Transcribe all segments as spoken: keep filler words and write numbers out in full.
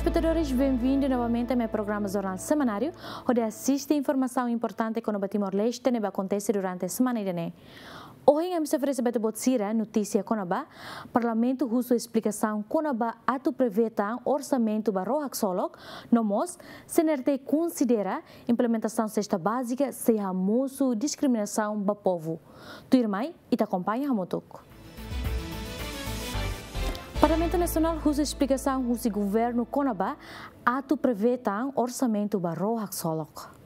Espetadores, benvindu novamente a programa Jornál Semanáriu, hodi asiste informasaun importante kona-ba Timor-Leste ne'ebé akontese durante semana ida-ne'e. Ohin ami sei oferese ba ita-boot sira notísia kona-ba Parlamentu husu esplikasaun kona-ba atu prevee tan orsamentu ba ró haksolok, no mós C N R T konsidera implementasaun sesta bázika sei hamosu diskriminasaun ba povu. Tuirmai, ita akompaña hamutuk. Parlamentu Nasionál husu esplikasaun husi governu kona-ba atu prevee tan orsamentu ba ró haksolok.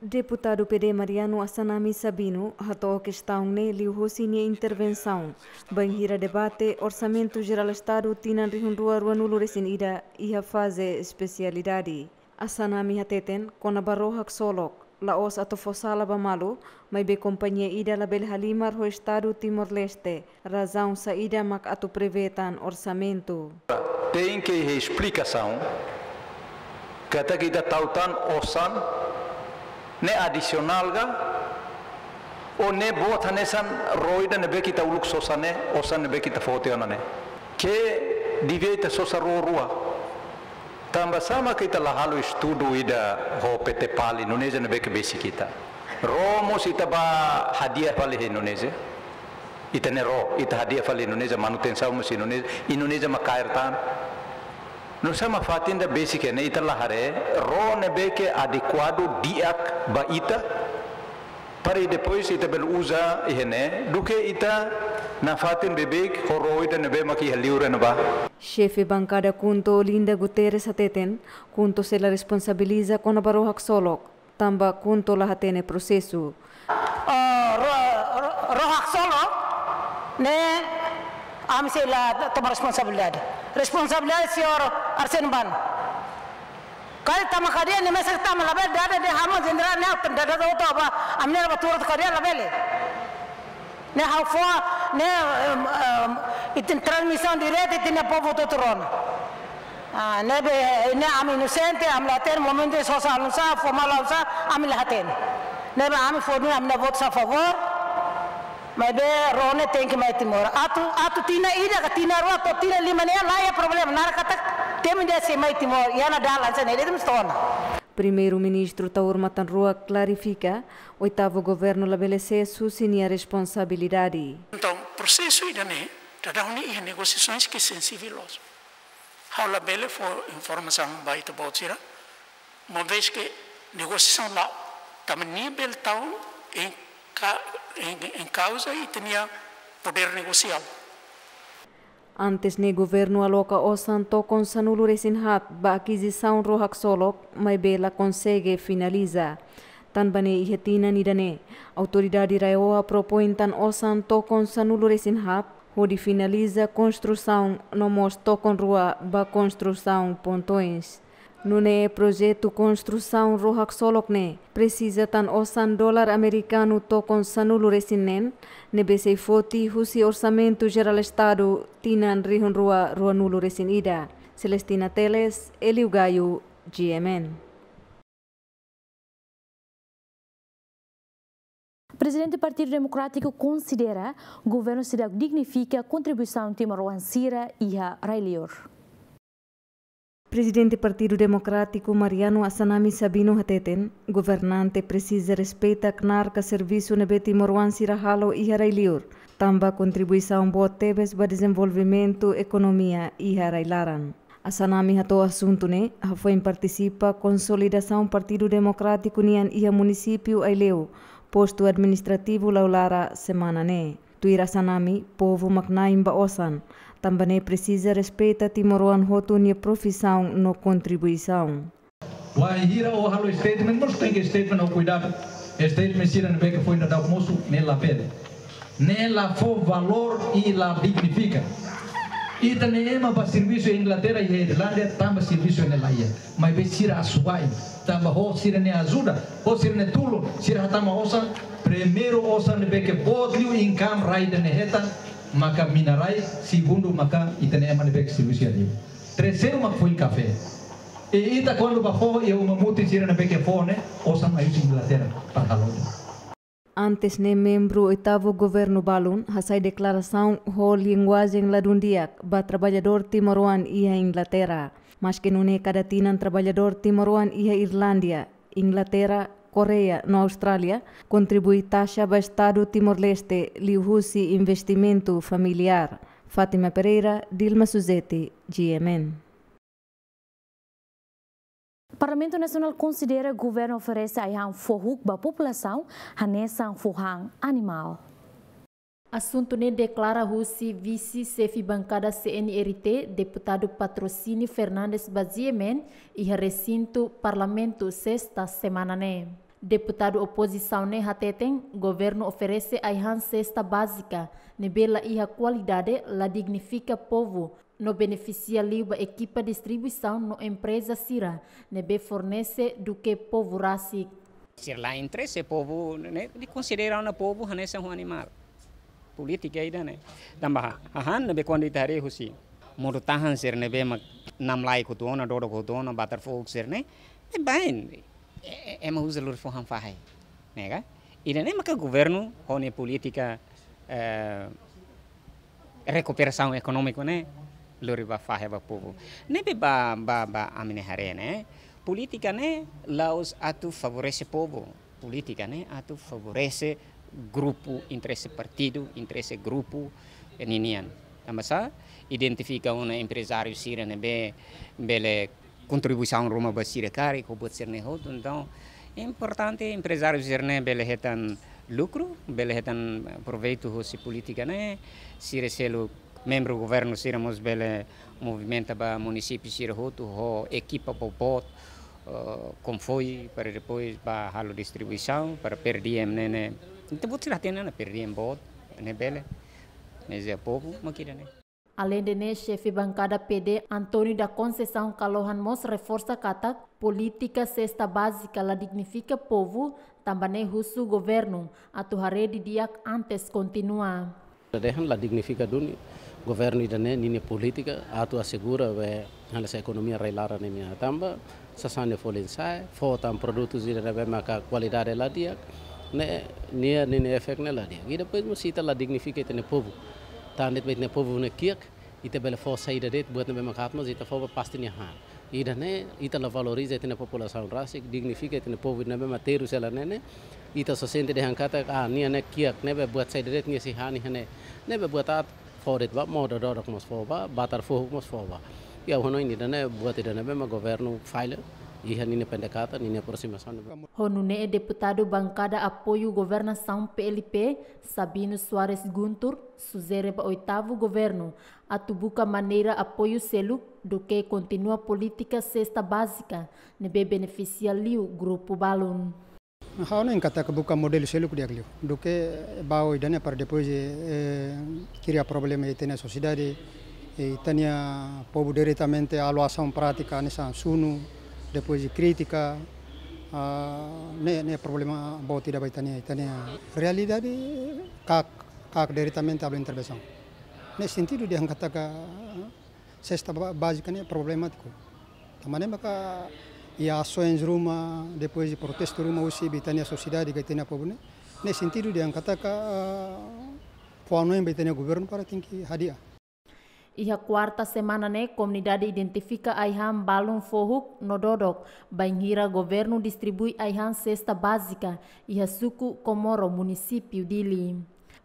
Deputadu P D Mariano Assanami Sabino hato'o kestaun ne'e liuhosi nia intervensaun bainhira debate Orsamentu Jerál Estadu tinan rihun rua ruanulu resin ida iha faze espesialidade. Assanami hateten kona-ba ró haksolok, la'ós atu fó sala ba malu, maibé kompañia ida labele halimar ho Estadu Timor-Leste, razaun saida mak atu prevee tan orsamentu. Tenke iha esplikasaun katak ita tau tan osan ne'e adisionál ka, ou ne'e boot hanesan ró ida ne'ebé ke ita uluk sosa ne'e, osan ne'ebé ke ita fó tiha ona ne'e. Ke devia ita sosa ró rua. Tanba sá mak ita la halo estudu ida ho P T PALI, Indonézia ne'ebé ke besik ita. Ró mós ita bá hadi'a fali iha Indonézia. Ita-nia ró, ita hadi'a fali Indonézia, manutensaun mós Indonézia, Indonézia mak kaer tan. Nusá mak fatin ida besik ne'e ita la haree ró ne'ebé ke adekuadu di'ak ba ita, para depois ita bele uza iha ne'e, duké ita nafatin beibeik ho ró ida ne'ebé mak iha liur ne'ebá. Xefe bankada KHUNTO Olinda Guterres hateten, KHUNTO sei la responsabiliza kona-ba ró haksolok, tanba KHUNTO la hatene prosesu. Ah, ró, ró, ró haksolok ne'e ami sei la toma responsabilidade. Responsabilidade señór Arsénio Bano. Karik tama kadeia ne'e mesak tama, labele dada dehan ha'u mak jenerál ne'e, dada hotu ba, ami-nia ba tuur kadeia labele. Ne'e ha'u fó, ne'e, em, em, ita-nia transmisaun direta, ita-nia povu hotu rona. Ah, ne'ebé, ne'e ami inosente, ami la hatene momentu sosa oinsá, fó malu oinsá, ami la hatene. Ne'ebé ami fó duni ami-nia votu a favór, maibé ró ne'e tenke mai Timor. Atu, atu tinan ida ka tinan rua to'o tinan lima ne'e laiha problema, naran katak temi ida sei mai Timor, iha ona dalan sira-ne'e, ita mós tona. Primeiru-Ministru Taur Matan Ruak klarifika, oitavu governu labele sees husi nia responsabilidade. Entaun, prosesu ida-ne'e, daudaun ne'e iha negosiasoens ke sensivel loos. Ha'u labele fó informasaun ba ita-boot sira, uma vez ke negosiasaun la'o, tanba nia bele tau em ca-, em, em causa ita-nia poder negosiál. Antes ne'e governu aloka osan tokon sanulu resin haat ba akizisaun ró haksolok, maibé la konsege finaliza. Tanba ne'e iha tinan ida-ne'e, autoridade RAEOA propoin tan osan tokon sanulu resin haat, hodi finaliza konstrusaun no mós tokon rua ba konstrusaun pontoens. Nune'e projetu konstrusaun ró haksolok ne'e presiza tan osan dolar amerikanu tokon sanulu resin neen, ne'ebé sei foti husi Orsamentu Jerál Estadu tinan rihun rua ruanulu resin ida. Celestina Teles, Elio Gaio, G M N. Prezidente Partidu Demokrátiku konsidera governu seidauk dignifika kontribuisaun timoroan sira iha rai-liur. Prezidente Partidu Demokrátiku Mariano Assanami Sabino hateten, governante presiza respeita knaar ka servisu ne'ebé timoroan sira halo iha rai-liur, tanba kontribuisaun boot tebes ba dezenvolvimentu ekonomia iha rai-laran. Assanami hato'o asuntu ne'e hafoin partisipa konsolidasaun Partidu Demokrátiku nian iha munisípiu Aileu, postu administrativu Laulara, semana ne'e. Tuir Assanami, povu mak na'in ba osan, tanba ne'e presiza respeita timoroan hotu nia profisaun no kontribuisaun. Wainhira ó halo statement, mós tenke statement ho kuidadu. Statement sira ne'ebé ke foin daudauk mosu, ne'e labele. Ne'e la fó valór i la dignifika. Ita-nia ema bá servisu iha Inglaterra, iha Irlanda, tanba servisu ne'e laiha. Maibé sira asuwa'in, tanba ho sira-nia ajuda, ho sira-nia tulun, sira hatama osan, primeiru osan ne'ebé ke boot liu income rai ida-ne'e hetan, maka mina-rai, segundu maka ita-nia ema ne'ebé ke servisu iha liur. Terseiru mak foin kafé. I ita kuandu bá fó iha uma mutin sira ne'ebé ke fó ne'e, osan mai husi Inglaterra para halo. Antes ne'e membru oitavu governu balun hasai deklarasaun ho linguajen ladún di'ak ba traballadór timoroan iha Inglaterra. Maske nune'e kada tinan traballadór timoroan iha Irlandia, Inglaterra, Koreia no Austrália kontribui taxa ba Estadu Timor-Leste liuhusi investimentu familiár. Fátima Pereira, Dilma Suzeti, G M N. Parlamentu Nasionál konsidera governu oferese ai-han fohuk ba populasaun hanesan fó han animál. Asuntu ne'e deklara husi vise xefe bankada C N R T, deputadu Patrocínio Fernandes ba G M N, iha resintu Parlamentu sesta semana ne'e. Deputadu opozisaun ne'e hateten, governu oferese ai-han sesta bázika ne'ebé la iha kualidade, la dignifika povu, no benefisia liu ba ekipa distribuisaun no empreza sira ne'ebé fornese duké povu rasik. Sira la interese povu ne'e, konsidera ona povu hanesan ho animál. Polítika ida-ne'e. Tanba hahán ne'ebé kuandu ita haree husi modo-tahan sira ne'ebé mak namlaik hotu ona, dodok hotu ona, batar fohuk sira-ne'e, ne'e bain. E, e, ema uza lori fó han fahe. Ne'e ka? Ida-ne'e maka governu ho nia polítika, eh, rekuperasaun ekonómiku ne'e lori ba fahe ba povu. Ne'ebé ba, ba, ba ami-nia haree ne'e, polítika ne'e la'ós atu favorese povu. Polítika ne'e atu favorese grupu, interese partidu, interese grupu, eh, ninian. Tanba sá, identifika ona emprezáriu sira ne'ebé bele kontribuisaun ruma ba sira karik ho buat sira-ne'e hotu. Entaun, importante emprezáriu sira-ne'e bele hetan lukru, bele hetan proveitu husi polítika ne'e, sira seluk membru governu sira mós bele movimenta ba munisípiu sira hotu ho ekipa boboot, eh, konvoi para depois ba halo distribuisaun para per diem ne'e ne'e. Entaun buat sira hatene ona per diem boot ne'e bele. Ne'e iha povu mak ida-ne'e. Aleinde ne'e, xefe bankada P D, António da Conceição Kalohan mós reforsa katak polítika sesta bázika la dignifika povu, tanba ne'e husu governu atu haree didi'ak antes kontinua. Dehan la dignifika duni, governu ida-ne'e ninia polítika atu asegura be hanesan ekonomia rai-laran nian, tanba sasán ne'e folin sa'e, fó tan produtu sira ne'ebé maka kualidade la di'ak, ne'e nia, ninia efeitu ne'e la di'ak. I depois mós ita la dignifika ita-nia povu. Tan de'it ba ita-nia povu ne'e kiak, ita bele fó saida de'it, buat ne'ebé maka aat mós ita fó ba pasti nia han. Ida-ne'e ita la valoriza ita-nia populasaun rasik, dignifika ita-nia povu ne'ebé mak terus hela ne'e ne'e. Ita só sente dehan katak, ah, nia ne'e kiak, ne'ebé buat saida de'it nia sei han iha ne'e. Ne'ebé buat aat fó de'it ba modo dodok mós fó ba, batar fohuk mós fó ba. I ha'u hanoin ida-ne'e buat ida ne'ebé mak governu falla iha ninia pendekatan, ninia aproximasaun. Ho nune'e deputadu bankada apoiu governasaun P L P, Sabino Soares Guntur, sujere ba oitavu governu atu buka maneira apoiu seluk duké kontinua polítika sesta bázika ne'ebé benefisia liu grupu balun. Ha'u hanoin katak buka modelu seluk di'ak liu. Duké ba oin ida-ne'e para depois, eh, kria problema iha ita-nia sosiedade, eh, ita-nia povu diretamente halo asaun prátika hanesan sunu, depois kritika, ah, ne'e, ne'e problema boot ida ba ita-nia, ita-nia realidade, kaak, kaak diretamente halo intervensaun. Ne'e sentidu dehan katak, ah, sesta ba-, bázika ne'e problemátiku. Tanba ne'e maka iha asoens ruma, depois de protestu ruma husi ita-nia sosiedade ka ita-nia povu ne'e. Ne'e sentidu dehan katak, ah, fó hanoin ba ita-nia governu para tenke hadi'a. Iha kuarta semana ne'e, komunidade identifika ai-han balun fohuk no dodok, bainhira governu distribui ai-han sesta bázika iha suku Comoro, munisípiu Dili.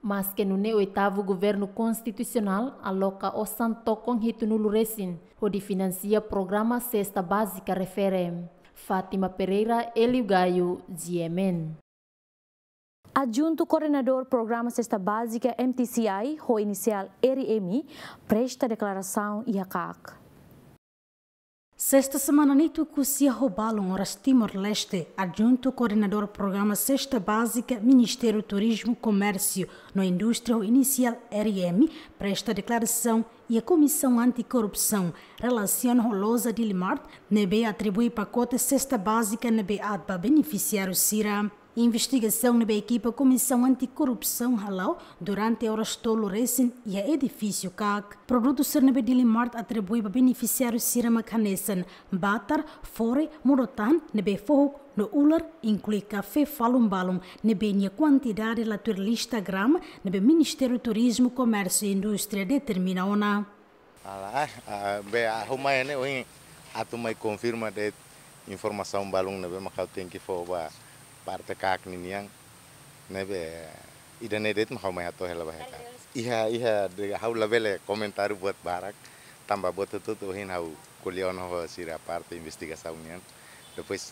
Maske nune'e, oitavu governu konstitusionál aloka osan tokon hitunulu resin hodi finansia programa sesta bázika refere. Fátima Pereira, Hélio Gaio, G M N. Adjuntu Koordenadór Programa Sesta Bázika, M T C I, ho inisiál R M, presta deklarasaun iha kaak. Sesta semana ne'e tuku sia ho balun oras Timor-Leste, Adjuntu Koordenadór Programa Sesta Bázika, Ministériu Turizmu, Komérsiu no Indústria, ho inisiál R M, presta deklarasaun iha Komisaun Antikorrupsaun, relasiona ho loja Dilimart ne'ebé atribui pakote sesta bázika ne'ebé aat ba benefisiáriu sira. Investigasaun ne'ebé ekipa Komisaun Anti-Korrupsaun hala'o durante oras tolu resin iha edifísiu KAK. Produtu sira ne'ebé Dili Mart atribui ba benefisiáriu sira mak hanesan batar, fore, modo-tan ne'ebé fohuk no ular, inklui kafé falun-balun ne'ebé nia kuantidade la tuir lista grama ne'ebé Ministériu Turizmu, Komérsiu no Indústria determina ona. Ala, ah, ah, be, ah, ha'u mai ne'e ohin atu mai konfirma de'it informasaun balun ne'ebé mak ha'u tenke fó ba parte KAK ninian. Ne'ebé ida-ne'e de'it mak ha'u mai hato'o hela ba heka. Iha, iha, de, ha'u labele komentáriu buat barak. Tanba buat hotu-hotu ohin ha'u ko'alia ona ho sira parte investigasaun nian. Depois,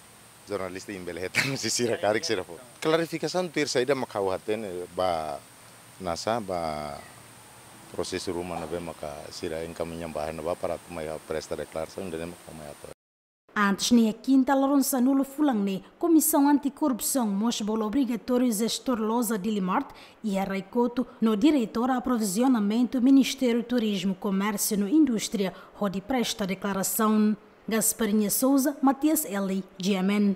jornalista imi bele hetan husi sira karik sira fó klarifikasaun tuir saida mak ha'u hatene ba nasa ba prosesu ruma ne'ebé maka sira encaminha ba ne'ebá para atu mai ha'u presta deklarasaun ida-ne'e mak ha'u mai hato'o. Antes ne'e, kinta loron sanulu fulan ne'e, Komisaun Anti-Korrupsaun mós bolu obrigatóriu jestór loja Dili Mart iha Raikotu no diretora aprovizionamentu Ministériu Turizmu, Komérsiu no Indústria hodi presta deklarasaun. Gasparinha Souza, Matias Eli, G M N.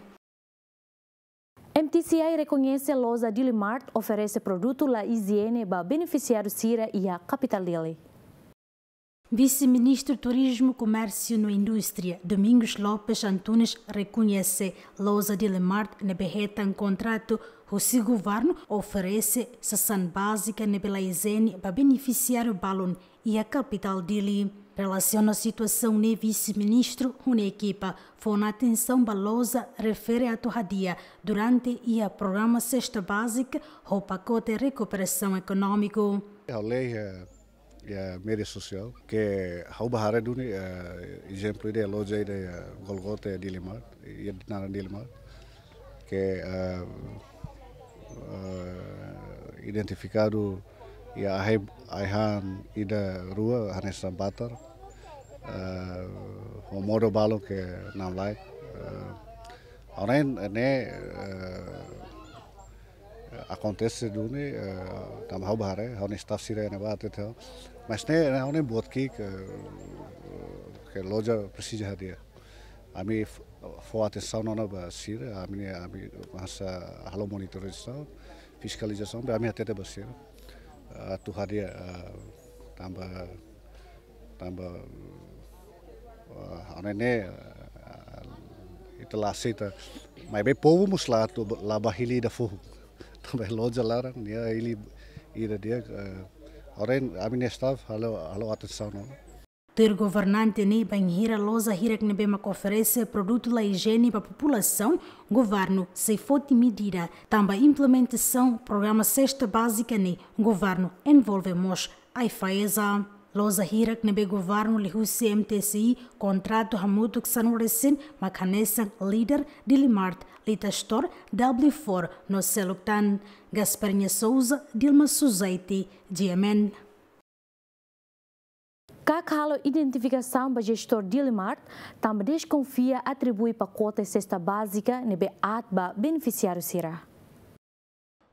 M T C I rekoñese loja Dili Mart oferese produtu la ijiene ba benefisiáriu sira iha kapitál Dili. Vise-Ministru Turizmu, Komérsiu no Indústria, Domingos Lopes Antunes, rekoñese loja Dili Mart ne'ebé hetan kontratu husi governu oferese sasán bázika ne'ebé la ijiene ba benefisiáriu balun iha kapitál Dili. Relasiona situasaun ne'e, Vise-Ministru ho nia ekipa fó ona atensaun ba loja refere atu hadi'a durante iha programa Sesta Bázika ho pakote rekuperasaun ekonómiku. Ha'u lee, eh, iha média sosiál, ke ha'u bá haree duni, eh, ezemplu ida loja ida iha Golgota iha Dili Mart, iha naran Dili Mart, ke, eh, eh, identifikadu iha ai-, ai-han ida rua hanesan batar, eh, ho modo balun ke namlaik, eh, ha'u hanoin ne'e, eh, akontese duni, eh, tanba ha'u bá haree, ha'u-nia staff sira iha ne'ebá hatete ha'u. Mas ne'e, ne'e ha'u-nia buat ki'ik, eh, ke loja presiza hadi'a. Ami f-, fó atensaun ona ba sira, ami, ami hanesan halo monitorizasaun, fiskalizasaun, be ami hatete ba sira. Atu hadi'a, eh, tanba, tanba, eh, ha'u hanoin ne'e, eh, ita la aseita. Maibé povu mós la atu, la bá hili ida foho. Tanba loja laran, nia hili ida di'ak, eh, ha'u hanoin ami-nia staff halo, halo atensaun ona. Tuir governante ne'e, bainhira loja hirak ne'ebé mak oferese produtu la ijiene ba populasaun, governu sei foti medida, tanba implementasaun programa Sesta Bázika ne'e, governu envolve mós AIFAESA. Loja hirak ne'ebé governu liuhusi M T C I kontratu hamutuk sanulu resin mak hanesan Leader, Dili Mart, Lita Store, W four no seluk tan. Gasparinha Souza, Dilma Suzaiti, G M N. KAK halo identifikasaun ba jestór Dili Mart, tanba deskonfia atribui pakote sesta bázika ne'ebé aat ba benefisiáriu sira.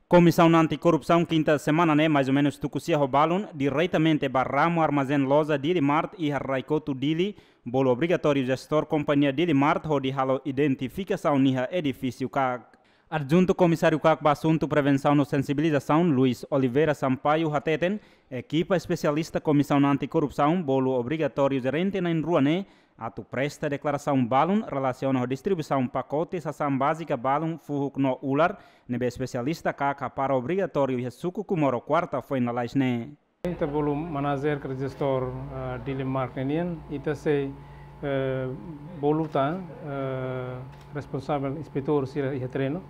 Komisaun Anti-Korrupsaun kinta semana ne'e, mais ou menus tuku sia ho balun, diretamente ba ramu armazén loja Dili Mart iha Raikotu Dili, bolu obrigatóriu jestór kompañia Dili Mart hodi halo identifikasaun iha edifísiu KAK. Adjuntu Komisáriu KAK ba asuntu prevensaun no sensibilizasaun, Luis Oliveira Sampaio, hateten, ekipa espesialista Komisaun Anti-Korrupsaun bolu obrigatóriu jerente na'in-rua ne'e atu presta deklarasaun balun relasiona ho distribuisaun pakote sasán bázika balun fuhuk no ular, ne'ebé espesialista KAK hapara obrigatóriu iha suku Comoro kuarta foin lalais ne'e. Ita bolu manajer ka jestór, ah, Dili Mart ne'e nian, ita sei, eh, bolu tan, eh, responsavel inspetór sira iha terrenu,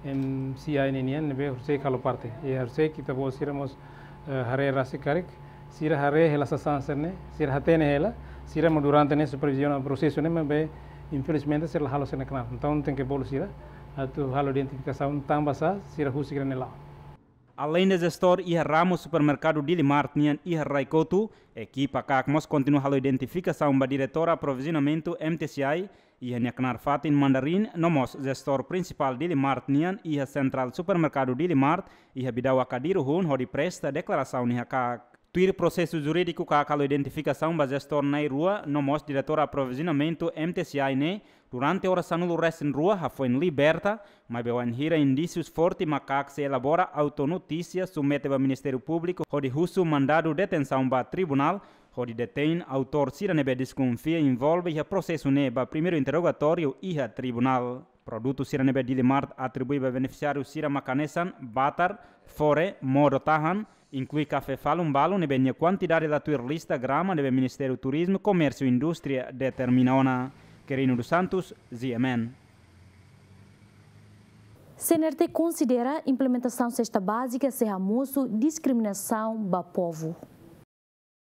M C I ne'e nian, ne'ebé horiseik halo parte. I horiseik ita-boot sira mós, eh, haree rasik karik, sira haree hela sasán sira-ne'e, sira hatene hela, sira mós durante ne'e superviziona prosesu ne'e, maibé infelizmente sira la halo sira-nia knaar. Entaun tenke bolu sira atu halo identifikasaun tanbasá sira husik sira-nia la'o. Aleinde jestór iha ramu supermerkadu Dili Mart nian iha Raikotu, ekipa KAK mós kontinua halo identifikasaun ba diretora aprovizionamentu M T C I iha nia knaar fatin Mandarin, no mós jestór prinsipál Dili Mart nian iha sentrál supermerkadu Dili Mart iha Bidau Akadiru hun hodi presta deklarasaun iha KAK. Tuir prosesu jurídiku ka halo identifikasaun ba jestór na'in rua, no mós diretór aprovizionamentu M T C I ne'e, durante oras sanulu-resin-rua hafoin liberta, maibé wainhira indísius forte maka sei elabora auto-notísia submete ba Ministériu Públiku hodi husu mandadu detensaun ba tribunál, hodi detein autór sira ne'ebé deskonfia envolve iha prosesu ne'e ba primeiru interrogatóriu iha tribunál. Produtu sira ne'ebé Dili Mart atribui ba benefisiáriu sira mak hanesan batar, fore, modo tahan, inklui kafé falun balu ne'ebé nia kuantidade la tuir lista grama ne'ebé Ministériu Turizmu, Komérsiu Indústria determina ona. Quirino dos Santos, G M N. C N R T konsidera implementasaun sesta bázika sei hamosu diskriminasaun ba povu.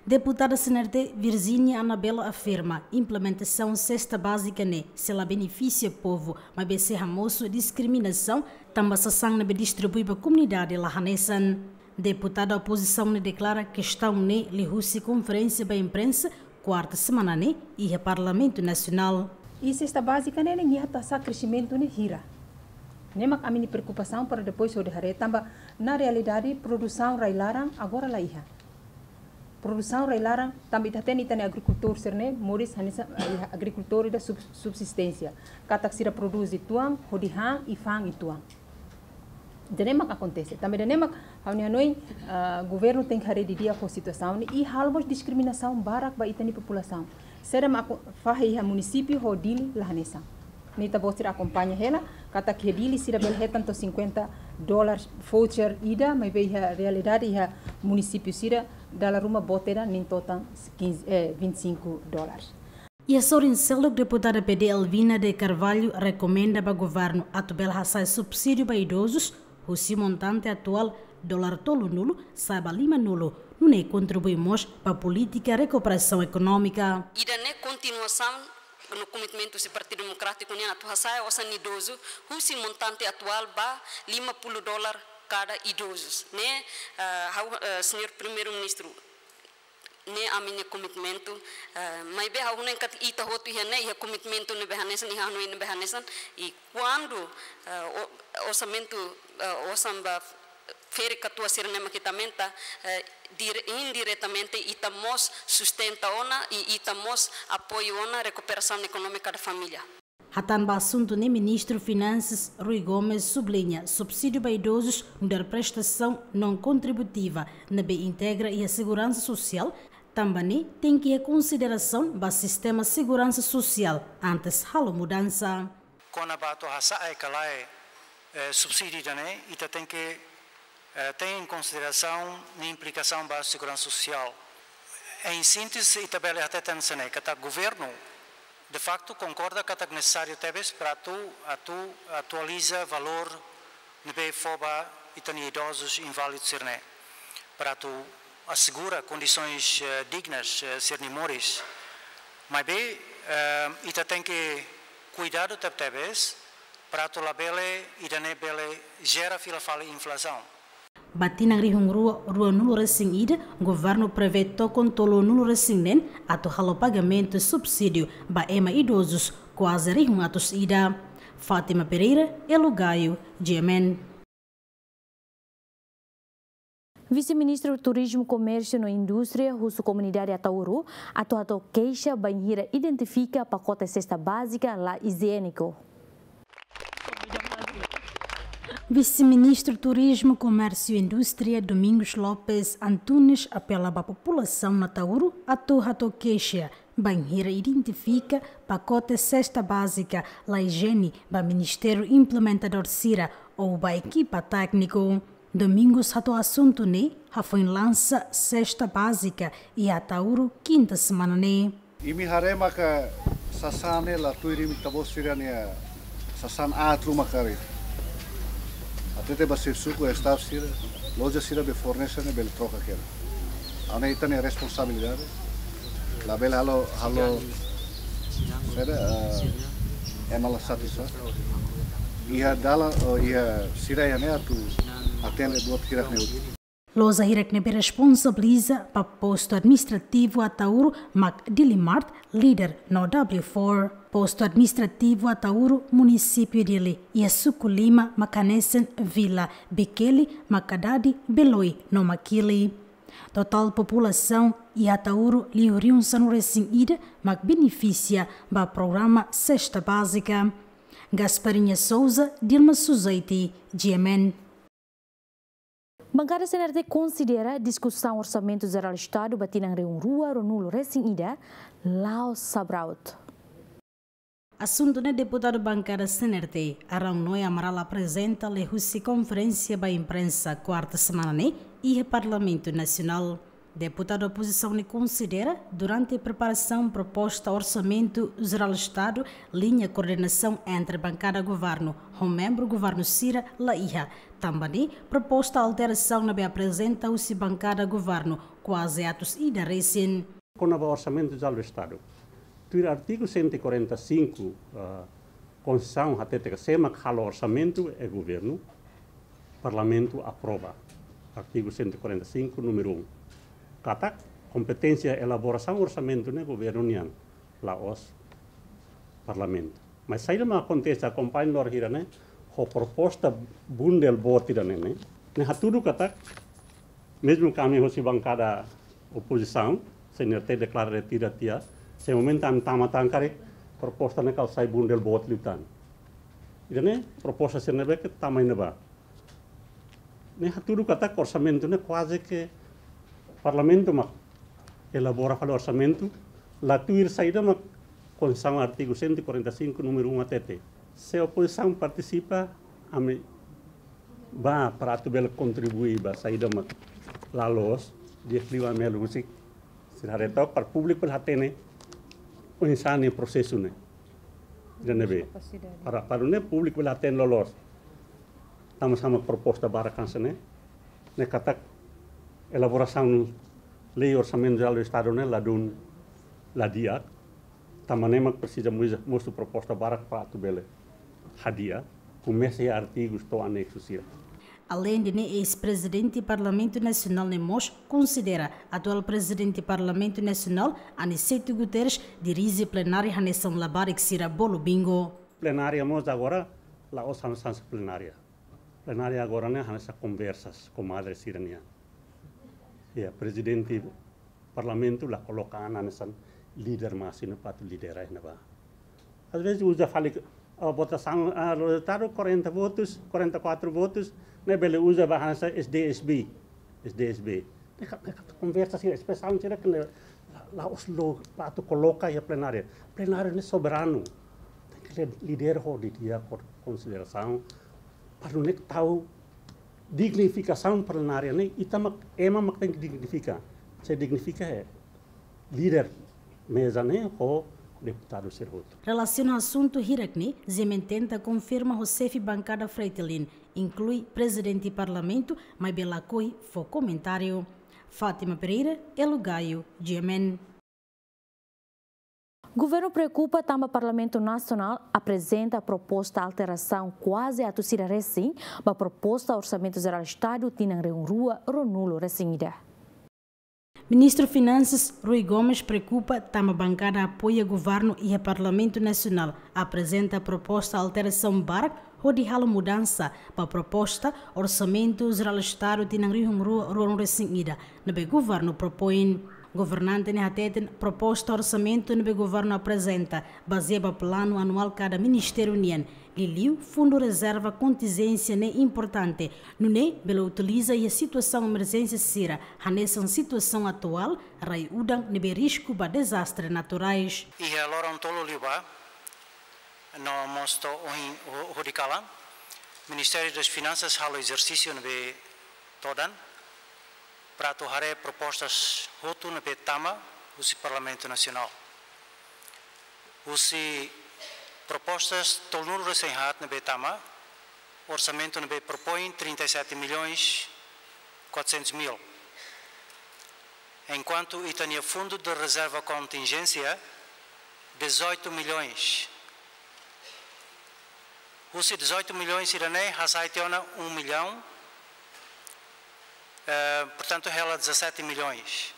Deputada C N R T Virginia Anabela afirma implementasaun sesta bázika ne'e sei la benefisia povu, maibé sei hamosu diskriminasaun, tanba sasán ne'ebé distribui ba komunidade la hanesan. Deputada opozisaun ne'e deklara kestaun ne'e liuhusi konferénsia ba imprensa kuarta semana ne'e iha Parlamentu Nasionál. I sesta bázika ne'e, ne'e nia atu hasa'e kresimentu ne'e hira. Ne'e mak ami-nia preokupasaun para depois hodi haree tanba na realidade produsaun rai-laran agora la iha. Produsaun rai-laran tanba ita hatene ita-nia agrikultór sira-ne'e moris hanesan, eh, agrikultór ida sub-, subsisténsia. Katak sira prodús uitoan, hodi han i fa'an uitoan. Ida-ne'e mak akontese. Tanba ida-ne'e mak ha'u-nia hanoin, ah, governu tenke haree didi'ak ho situasaun ne'e i halo mós diskriminasaun barak ba ita-nia populasaun. Saida mak fahe iha munisípiu ho Dili la hanesan. Ne'e ita-boot sira akompaña hela, katak iha Dili sira bele hetan to'o cinquenta dólares voucher ida, maibé iha realidade iha munisípiu sira dala ruma boot ida nein totan quinze, eh, vinte e cinco dólares. Iha sorin seluk, deputada P D Elvina de Carvalho rekomenda ba governu atu bele hasa'e subsídiu ba idozus husi montante atuál dolar tolunulu sa'e ba limanulu, nune'e kontribui mós ba polítika rekuperasaun ekonómika. Ida-ne'e kontinuasaun no komitmentu husi Partidu Demokrátiku nian atu hasa'e osan idozu husi montante atuál ba lima puluh dolar kada idozus. Ne'e, eh, ha'u, eh, Señór Primeiru-Ministru, ne'e ami-nia komitmentu, eh, maibé ha'u hanoin katak ita hotu iha ne'e, iha komitmentu ne'ebé hanesan, iha hanoin ne'ebé hanesan, i kuandu, eh, o-, orsamentu, eh, osan ba ferik katuas sira-ne'e mak ita aumenta, eh, dire-, indiretamente ita mós sustenta ona i ita mós apoiu ona rekuperasaun ekonómika da família. Hatán ba asuntu ne'e, Ministru Finansas Rui Gomes subliña subsídiu ba idozus nu'udar prestasaun non kontributiva ne'ebé integra iha seguransa sosiál, tanba ne'e tenke iha konsiderasaun ba sistema seguransa sosiál antes halo mudansa. Kona-ba atu hasa'e ka lae, eh, subsídiu ida-ne'e, ita tenke eh, tein konsiderasaun nia implikasaun ba seguransa sosiál. Em síntese, ita bele hateten hanesan ne'e, katak governu, de facto, konkorda katak nesesáriu tebes para atu, atu atualiza valór ne'ebé fó ba ita-nia idozus inválidus sira-ne'e, para atu asegura kondisoens, eh, dignas, eh, sira-nia moris. Maibé, eh, ita tenke kuidadu tebetebes, para atu labele, ida-ne'e bele jera fila fali inflasaun. Ba tinan rihun rua ruanulu-resin-ida, governu prevee tokon tolunulu-resin-neen atu halo pagamentu subsídiu ba ema idozus kuaze rihun atus ida. Fátima Pereira, Elo Gaio, G M N. Vise-Ministru Turizmu, Komérsiu no Indústria husu komunidade Ataúru atu hato'o keixa bainhira identifika pakote sesta bázika la ijiéniku. Vise-Ministru Turizmu, Komérsiu e Indústria, Domingos Lopes Antunes, apela ba populasaun Ataúru atu hato'o keixa bainhira identifika pakote sesta bázika la ijiéniku ba ministériu implementadór sira ou ba ekipa tékniku. Domingos hato'o asuntu ne'e hafoin lansa sesta bázika iha Ataúru kinta semana ne'e. Imi haree maka sasán ne'e la tuir imi ita-boot sira-nia sasán aat ruma karik. Hatete ba xefe suku, staff sira, loja sira be fornese ne'e bele troka kera. Ha'u hanoin ita-nia responsabilidade. Labele halo, halo, saida, eh, ema la satisfás. Iha dalan, oh, iha sira iha ne'e atu atende buat hirak ne'e hotu. Loja hirak ne'ebé responsabiliza ba postu administrativu Ataúru mak Dili Mart, Leader no W four. Postu administrativu Ataúru, munisípiu Dili, iha suku lima mak hanesan Vila, Bikeli, Makadadi, Beloi no Makili. Totál populasaun iha Ataúro liu rihun sanulu-resin-ida mak benefisia ba programa Sesta Bázika. Gasparinha Souza, Dilma Suzaiti, G M N. Bankada C N R T konsidera diskusaun Orsamentu Jerál Estadu ba tinan rihun rua ruanulu-resin-ida la'ós sabraut. Asuntu ne'e deputadu bankada C N R T, Arão Noé Amaral aprezenta liuhusi konferénsia ba imprensa kuarta semana ne'e iha Parlamentu Nasionál. Deputadu opozisaun ne'e konsidera, durante preparasaun proposta Orsamentu Jerál Estadu, liña koordenasaun entre bankada governu ho membru governu sira la iha. Tanba ne'e, proposta alterasaun ne'ebé aprezenta husi bankada governu kuaze atus ida resin. Kona-ba Orsamentu Jerál Estadu. Tuir artigu cento e quarenta e cinco, ah, Konstituisaun hatete katak sé mak halo orsamentu é governu, Parlamentu aprova. Artigu cento e quarenta e cinco, númeru um. Katak kompeténsia elaborasaun orsamentu ne'e governu nian, la'ós Parlamentu. Mas saida mak akontese, akompaña lor hira ne'e, ho proposta bundel boot ida-ne'e ne'e. Ne'e hatudu katak, mezmu ami husi bankada opozisaun, C N R T deklara retira tiha, se momentu ami tama tan karik, proposta ne'e kala sai bundel boot liután. Ida-ne'e proposta sira ne'ebé ke tama iha ne'ebá. Ne'e hatudu katak orsamentu ne'e kuaze ke Parlamentu mak elabora fali orsamentu, la tuir saida mak Konstituisaun artigu cento e quarenta e cinco, númeru um hatete. Se opozisaun partisipa, ami bá para atu bele kontribui ba saida mak la loos, di'ak liu ami halo husik. Sira haree took para públiku bele hatene oinsá ne'e prosesu ne'e. Ida-ne'ebé. Kapasidade. Para, para ne'e públiku bele hatene loloos. Tanba sá mak proposta barak hanesan ne'e. Ne'e katak elaborasaun lei Orsamentu Jerál Estadu ne'e ladún la di'ak. Tanba ne'e mak presiza mós, mosu proposta barak para atu bele hadi'a. Komesa iha artigus to'o aneksu sira. Aleinde ne'e, eis-prezidente Parlamentu Nasionál ne'e mós konsidera atuál prezidente Parlamentu Nasionál, Aniceto Guterres, dirije plenária hanesan labarik sira bolu bingo. Plenária mós agora la'ós hanesan plenária. Plenária agora ne'e hanesan konversas komadre sira nian. Ya, prezidente Parlamentu la koloka an hanesan líder másimu para atu lidera iha ne'ebá. Às vezes uza fali, ah, votasaun, ah, rezultadu quarenta votus, quarenta e quatro votus, ne'e bele uza ba hanesan S D S B, S D S B. Ne'e ka-, ne'e ka-, konversa sira, espresaun sira ke la, la'ós loos para atu koloka iha plenária. Plenária ne'e soberanu. Tenke li-, lidera ho di'ak, ho konsiderasaun. Para ne'e tau dignifikasaun plenária ne'e, ita mak, ema mak tenke dignifika. Se dignifika é líder meza ne'e ho deputadu sira hotu. Relasiona asuntu hirak ne'e, G M N tenta konfirma ho xefe bankada Fretilin, inklui prezidente Parlamentu, maibé lakohi fó komentáriu. Fátima Pereira, Elo Gaio, G M N. Governu preokupa tanba Parlamentu Nasionál aprezenta proposta alterasaun kuaze atus ida resin ba proposta Orsamentu Jerál Estadu tinan rihun rua ruanulu-resin-ida. Ministru Finansas Rui Gomes preokupa tanba bankada apoia governu iha Parlamentu Nasionál aprezenta proposta alterasaun barak hodi halo mudansa ba proposta Orsamentu Jerál Estadu tinan rihun rua ruanulu-resin-ida ne'ebé governu propoin. Governante ne'e hateten proposta orsamentu ne'ebé governu aprezenta bazeia ba planu anuál kada ministériu nian, liuliu fundu rezerva kontinjénsia ne'e importante, nune'e bele utiliza iha situasaun emerjénsia sira, hanesan situasaun atuál, rai udan ne'ebé risku ba dezastre naturais. Iha loron tolu liubá, no mós to'o ohin ho-, hodi kalan, Ministériu das Finansas halo ezersísiu ne'ebé todan, para atu haree propostas hotu ne'ebé tama husi Parlamentu Nasionál. Husi propostas tolunulu-resin-haat ne'ebé tama, orsamentu ne'ebé propoin trinta e sete milhões quatrocentos mil. Enkuantu ita-nia fundu de rezerva kontinjénsia, dezoito milhões. Husi dezoito milhões sira-ne'e, hasai tiha ona um milhão, eh, portantu, hela dezassete milhões.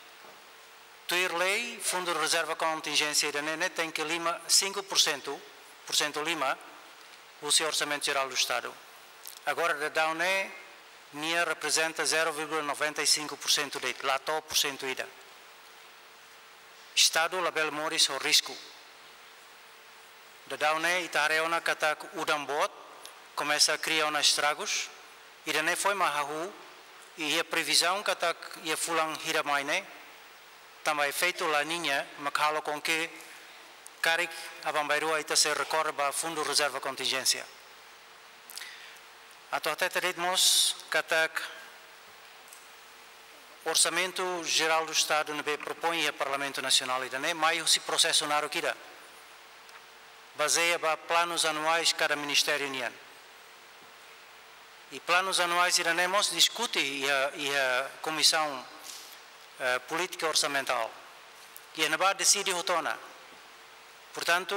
Tuir lei, fundu rezerva kontinjénsia ida-ne'e, ne'e tenke lima, cinco por cento, por cento lima, husi Orsamentu Jerál do Estadu. Agora, daudaun ne'e, Nia reprezenta zero vírgula noventa e cinco por cento de'it, la to'o porsentu ida. Estadu labele moris ho risku. Daudaun ne'e ita haree ona katak udan boot komesa kria ona estragus. Ida-ne'e foin mak hahú, i iha previzaun katak iha fulan hira mai ne'e, tanba efeitu La Niña mak halo konke karik aban-bainrua ita sei rekorre ba Fundu Rezerva Kontinjénsia. Atu hatete de'it mós katak Orsamentu Jerál do Estadu ne'ebé propoin iha Parlamentu Nasionál ida-ne'e mai husi prosesu naruk ida, bazeia ba planus anuais kada ministériu nian. I planus anuais ida-ne'e mós diskute iha, iha Komisaun, eh, Polítika Orsamentál. Iha ne'ebá deside hotu ona. Portantu,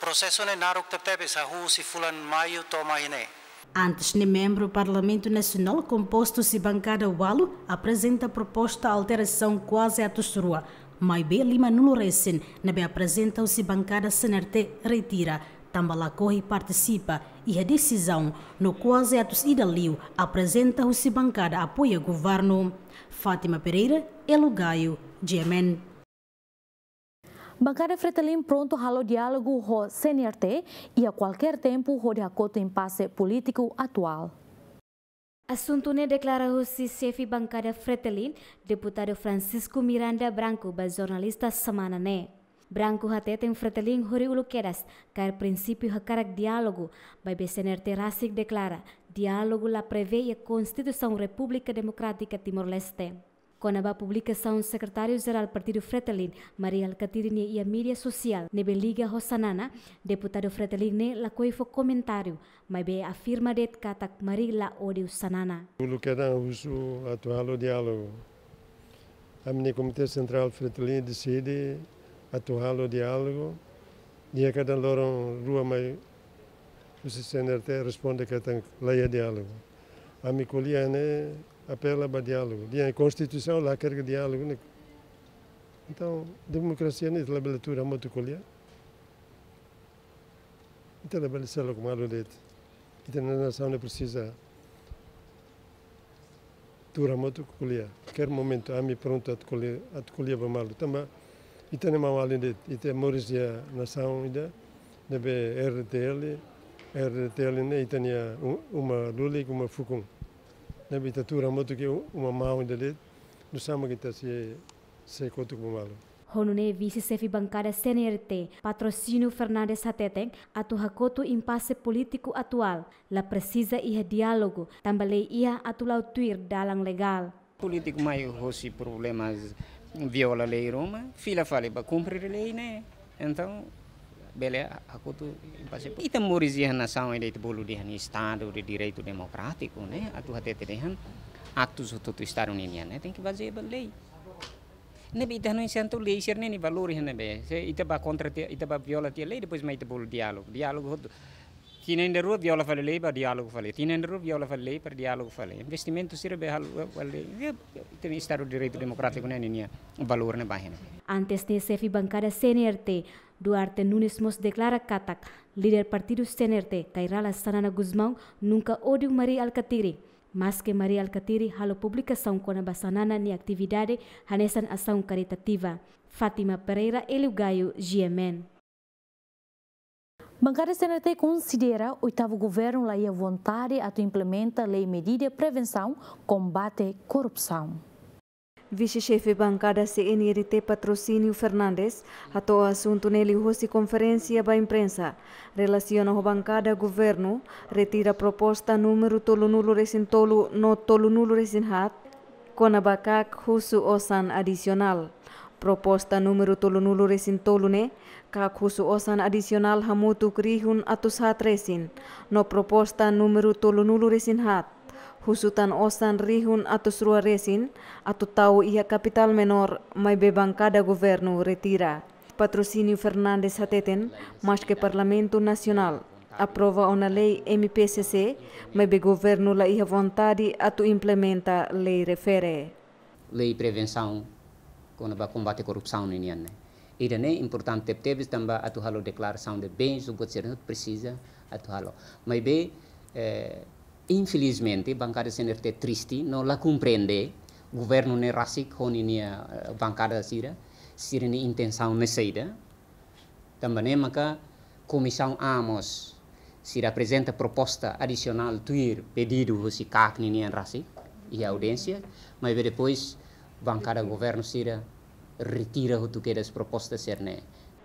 prosesu ne'e naruk tebetebes, hahú husi fulan Maiu to'o mai ne'e. Antes ne'e, membru Parlamentu Nasionál kompostu husi bankada ualu aprezenta proposta alterasaun kuaze atus rua, maibé lima-nulu resin ne'ebé aprezenta husi bankada C N R T retira, tanba lakohi partisipa iha desizaun, no kuaze atus ida liu aprezenta husi bankada apoia governu. Fátima Pereira, Elo Gaio, G M N. Bankada Fretilin prontu halo diálogu ho C N R T iha kualkér tempu hodi hakotu impase polítiku atuál. Asuntu ne'e deklara husi xefe bankada Fretilin, Deputadu Francisco Miranda Branco, ba jornalista semana ne'e. Branco hateten Fretilin horiuluk kedas kaer prinsípiu hakarak diálogu, maibé C N R T rasik deklara diálogu la prevee iha Konstituisaun Repúblika Demokrátika Timor-Leste. Kona-ba publikasaun Sekretáriu Jerál Partidu Fretilin, Mari Alkatiri nia iha média sosiál ne'ebé liga ho Xanana, Deputadu Fretilin ne'e lakohi fó komentáriu, maibé afirma de'it katak Mari la ódiu Xanana. Uluk kedan husu atu halo diálogu. Ami-nia Komité Sentrál Fretilin deside atu halo diálogu. Iha kedan loron rua mai husi C N R T responde katak la iha diálogu. Ami ko'alia ne'e apela ba diálogu. Iha Konstituisaun la hakerek diálogu ne'e. Entaun, demokrasia ne'e labele tuur hamutuk ko'alia. Ita labele seluk malu de'it. Ita-nia nasaun ne'e presiza tuur hamutuk ko'alia. Kualkér momentu ami prontu atu ko'alia, atu ko'alia ba malu. Tanba ita-nia maun-alin de'it, ita moris iha nasaun ida ne'ebé R D T L, R D T L ne'e ita-nia u-, uma lulik, uma fukun. Ne'ebé ita tuur hamutuk ke u-, uma maun ida de'it, nusá mak ita sei, sei kotuk ba malu. Ho nune'e vise xefe bankada C N R T, Patrocínio Fernandes hateten, atu hakotu impase polítiku atuál, la presiza iha diálogu, tanba lei iha atu la'o tuir dalan legál. Polítiku mai hosi problemas viola lei ruma, fila fali ba kumpre lei ne'e. Entaun, bele hakotu impase. Ita moris iha nasaun ida ita bolu dehan Estadu de Direitu Demokrátiku ne'e, atu hatete dehan aktus hotu-hotu Estadu ninian ne'e tenke bazeia ba lei. Ne'ebé ita hanoin santu lei sira-ne'e nia valór iha ne'ebé. Se ita bá kontra tiha, ita bá viola tiha lei, depois mai ita bolu diálogu. Diálogu hotu. Tinan ida rua viola fali lei, bá diálogu fali. Tinan ida rua viola fali lei, bá diálogu fali. Investimentu sira be halo fali. Ita-nia Estadu de Direitu Demokrátiku ne'e ninia valór ne'e ba iha ne'e. Antes ne'e xefe bankada C N R T, Duarte Nunes mós deklara katak líder partidu C N R T, Kay Rala Xanana Gusmão, nunka ódiu Mari Alkatiri. Maske Mari Alkatiri halo publikasaun kona-ba Xanana nia atividade hanesan asaun karitativa. Fátima Pereira, Hélio Gaio, G M N. Bankada C N R T konsidera oitavu governu la iha vontade atu implementa lei medida prevensaun kombate korrupsaun. Vise-xefe bankada C N R T Patrocínio Fernandes hato'o asuntu ne'e liuhosi konferénsia ba imprensa, relasiona ho bankada governu retira proposta númeru tolunulu-resin-tolu no tolunulu-resin-haat, kona-ba KAK husu osan adisionál. Proposta númeru tolunulu-resin-tolu ne'e, KAK husu osan adisionál hamutuk rihun atus haat resin, no proposta númeru tolunulu-resin-haat, husu tan osan rihun atus rua resin, atu tau iha kapitál menór, maibé bankada governu retira. Patrocínio Fernandes hateten, maske Parlamentu Nasionál aprova ona lei M P C C, maibé governu la iha vontade atu implementa lei refere. Lei prevensaun kona-ba kombate korrupsaun ninian ne'e. Ida-ne'e importante tebes tanba atu halo deklarasaun de bens, buat sira-ne'e presiza atu halo. Maibé, eh, Infelizmente, bankada C N R T triste, no la komprende governu ne'e rasik ho ninia, eh, bankada sira, sira-nia intensaun ne'e saida. Tanba ne'e maka Komisaun A mós sira aprezenta proposta adisionál tuir pedidu husi KAK ninian rasik iha audiénsia, maibé depois bankada governu sira retira hotu kedas proposta sira-ne'e.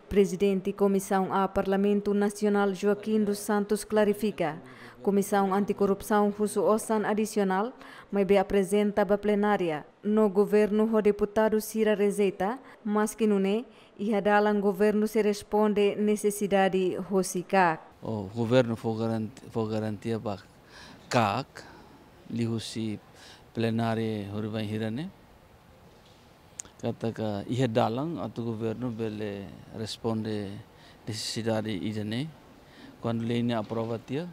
Prezidente Komisaun A Parlamentu Nasionál Joaquim dos Santos klarifika, Komisaun Antikorrupsaun husu osan adisionál, maibé aprezenta ba plenária, no governu ho deputadu sira rejeita, maski nune'e, iha dalan governu sei responde nesesidade hosi KAK. O governu fó garanti-, fó garantia ba KAK, liuhusi plenária horibainhira ne'e, katak iha dalan atu governu bele responde nesesidade ida-ne'e. Kuandu lei ne'e aprova tiha,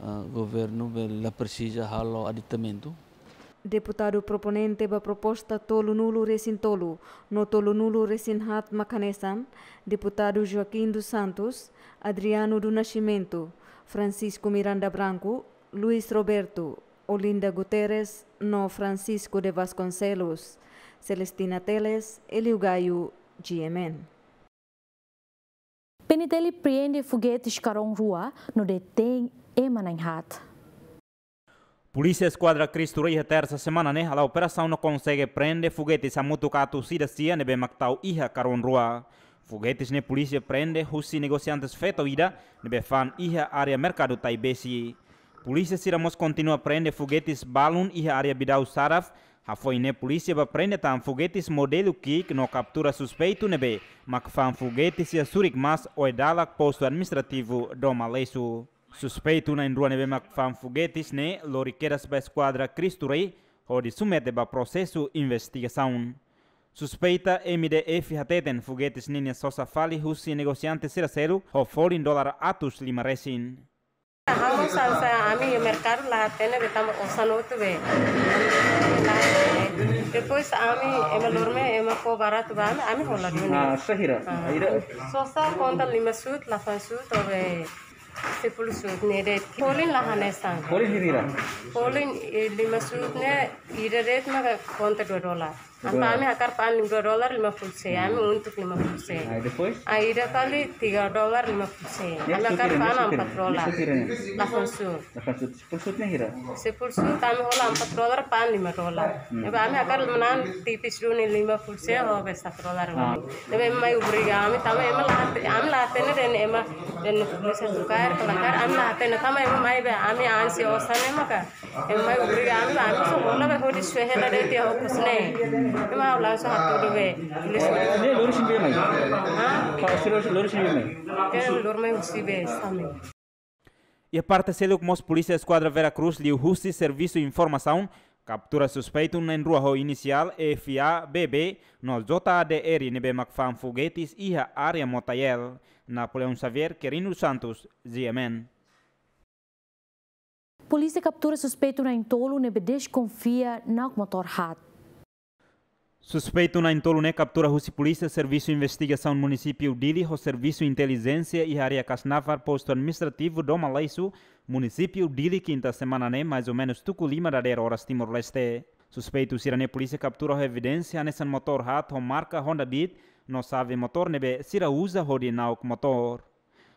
ah, governu bele la presiza halo aditamentu. Deputadu proponente ba proposta tolunulu-resin-tolu no tolunulu-resin-haat mak hanesan, deputadu Joaquim dos Santos, Adriano do Nascimento, Francisco Miranda Branco, Luis Roberto, Olinda Guterres no Francisco de Vasconcelos. Celestina Teles, Elio Gaio, G M N. P N T L apreende fogetes karón rua no detein ema na'in-haat. Polísia Eskuadra Cristo Rei iha tersa semana ne'e hala'o operasaun no konsege preende fogetes hamutuk atus ida sia ne'ebé mak tau iha karón rua. Fogetes ne'e polísia preende husi negosiantes feto ida ne'ebé fa'an iha área merkadu Taibesi. Polísia sira mós kontinua preende fogetes balun iha área Bidau Saraf. Hafoin ne'e polísia bá preende tan fogetes modelu ki'ik no kaptura suspeitu ne'ebé mak fa'an fogetes iha Surik Mas, Oe-Dalak, postu administrativu Doma Lesu. Suspeitu na'in-rua ne'ebé mak fa'an fogetes ne'e lori kedas ba Eskuadra Cristo Rei hodi submete ba prosesu investigasaun. Suspeita M D F hateten fogetes ninia sosa fali husi negosiante sira seluk ho folin dolar atus lima resin. Ha'u mós hanesan ami iha merkadu la hatene be tanba osan hotu be. Depois ami ema lorme ema fó baratu ba ami, ami hola duni. Ah, sá hira? Ah. Ida? Sosa konta lima suut, lapan suut, ou be sepuluh suut ne'e de'it. Folin la hanesan. Folin hira? Folin, eh, lima suut ne'e ida de'it maka konta dua dolar. Entaun ami hakarak fa'an dua dolar lima puluh sen, ami untuk lima puluh sen. Ah, depois? Ah, ida fali tiga dolar lima puluh sen. Ya, ami hakarak fa'an empat dolar. Lapan suut. Lapan suut. Sepuluh suut ne'e hira? Sepuluh suut ami hola empat dolar, fa'an lima dolar. Hmm. Ne'ebé ami hakarak manán tipis duni lima puluh sen ho be satu dolar. Ah. Ne'ebé mai obriga ami tanba ema la hate-, ami la hatene dehan ema dehan polísia tukaer, tukaer, ami la hatene tanba ema mai be ami ansi osan ne'e maka. Ema mai obriga ami, ami só hola be hodi suehe la de'it iha okos ne'e. Ema langsung hatudu be polísia. Ne'e lori sira ne'ebé mai? Hah? Ka sira lori sira ne'ebé mai? Ke lori mai husi be Same. Iha parte seluk mós Polísia Eskuadra Vera Cruz liuhusi servisu informasaun kaptura suspeitu na'in-rua ho inisiál F A B B no J A D R ne'ebé mak fa'an fogetes iha área Motael. Napoleão Xavier, Quirino Santos, G M N. Polísia kaptura suspeitu na'in-tolu ne'ebé deskonfia na'ok motór haat. Suspeitu na'in-tolu ne'e kaptura husi polísia servisu investigasaun munisípiu Dili ho servisu intelijénsia iha área Kasnavar, postu administrativu Doma Lesu, munisípiu Dili, kinta semana ne'e, mais ou menus tuku lima dadeer oras Timor-Leste. Suspeitu sira-ne'e polísia kaptura ho evidénsia hanesan motór haat ho marka Honda Beat no xave motór ne'ebé sira uza hodi na'ok motór.